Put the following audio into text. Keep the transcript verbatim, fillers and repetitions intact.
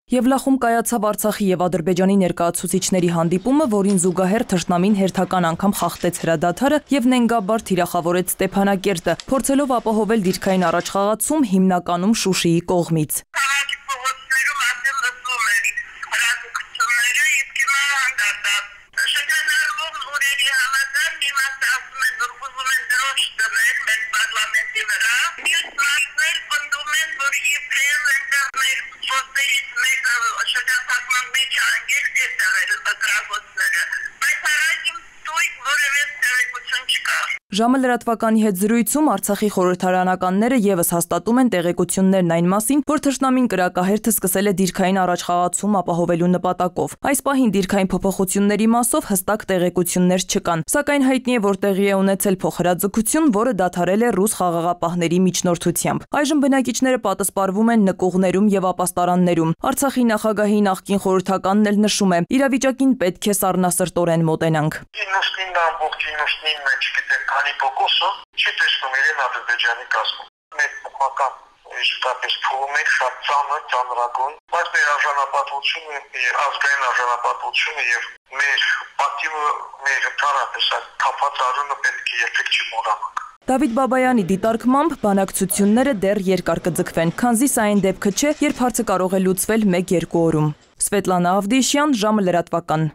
Եվլախում կայացավ Արցախի և Ադրբեջանի ներկայացուցիչների հանդիպումը, որին զուգահեռ թշնամին հերթական անգամ խախտեց հրադադարը և նենգաբար թիրախավորեց Ստեփանակերտը, փորձելով ապահովել դիրքային առաջխաղացում հիմնականում Շուշիի կողմից։ Ժամը լրատվականի հետ զրույցում Արցախի խորհրդարանականները ևս հաստատում են տեղեկություններն այն մասին, որ թշնամին կրակահերթը սկսել է դիրքային առաջխաղացում ապահովելու նպատակով։ Այս պահին դիրքային փոփոխությունների մասով հստակ տեղեկություններ չկան, սակայն հայտնի է, որ տեղի է ունեցել փոխհրաձգություն, որը դադարել է ռուս խաղաղապահների միջնորդությամբ։ Այժմ բնակիչները պատասպարվում են նկուղներում եւ ապաստարաններում։ Արցախի նախագահի նախկին խորհրդականն էլ նշում է, իրավիճակին պետք է սառնասրտորեն մոտենանք։ Քանի փոքոսը չի տեսնում իրեն Ադրբեջանի կազմում։ Մեր փոխական իսկապես փողում է շատ ծանր, ծանրագույն, բայց մեր արժանապատվությունը, ազգային արժանապատվությունը եւ մեր պատիվը, մեր ընդհանրապես թափած արունը պետք է երբեք չմոռանանք։ Դավիթ Բաբայանի դիտարկմամբ բանակցությունները դեռ երկար կձգվեն, քանզի սա այն դեպքը չէ, երբ հարցը կարող է լուծվել մեկ-երկու օրում։ Սվետլանա Ավդիշյան, ժամը լրատվական։